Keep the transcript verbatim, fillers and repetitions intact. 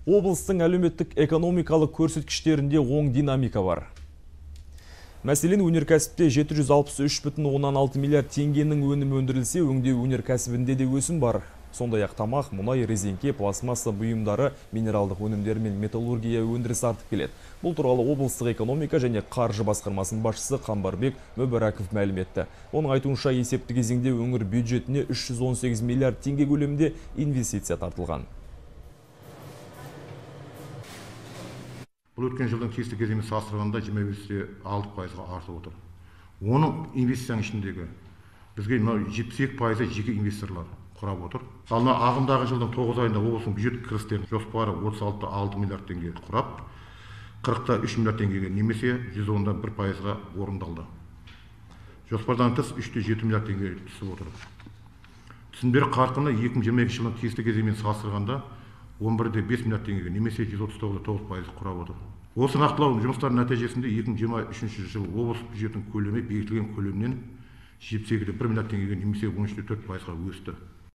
Облыстың әлеуметтік экономикалық көрсеткіштерінде оң динамика бар. Мәселен, өнеркәсіпте жеті жүз алпыс үш бүтін оннан алты миллиард теңгенің өнімі өндірілсе, өңдеу өнеркәсібінде де өсім бар. Сондай-ақ тамақ, мұнай, резеңке, пластмасса бұйымдары, минералдық өнімдер мен металлургия өндірісі артып келеді. Бұл туралы облыстық экономика және қаржы басқармасының басшысы Қамбарбек Мөбәраков мәлім етті. Оның айтуынша, есепті кезеңде өңір бюджетіне үш жүз он сегіз миллиард теңге көлемінде инвестиция тартылған. Бұл өткен жылдың тиісті кезеңімен салыстырғанда жиырма бес те алты пайызға артып отыр. Оның инвестицияның ішіндегі бізге жетпіс екі пайызы жеке инвесторлар құрап отыр. Ал ағымдағы жылдың тоғыз айында облыстың бюджет кірістерінің жоспары отыз алты бүтін алты миллиард теңге құрап, қырық та үш миллиард теңгеге немесе жүз он да бір пайызға орындалды. Жоспардан тыс үш те жеті миллиард теңге түсіп отыр. Түсім беру қарқыны екі мың жиырма екінші жылдың тиісті кезеңімен салыстырғанда он бір де бес миллиард теңгеге немесе жүз отыз тоғыз да тоғыз пайыз құрап отыр. Осы нақтылау жұмыстарының нәтижесінде екі мың жиырма үшінші жыл облыс бюджетінің көлемі бекітілген көлемнен жетпіс екі де бір миллиард теңгеге немесе он үш те төрт пайызға өсті.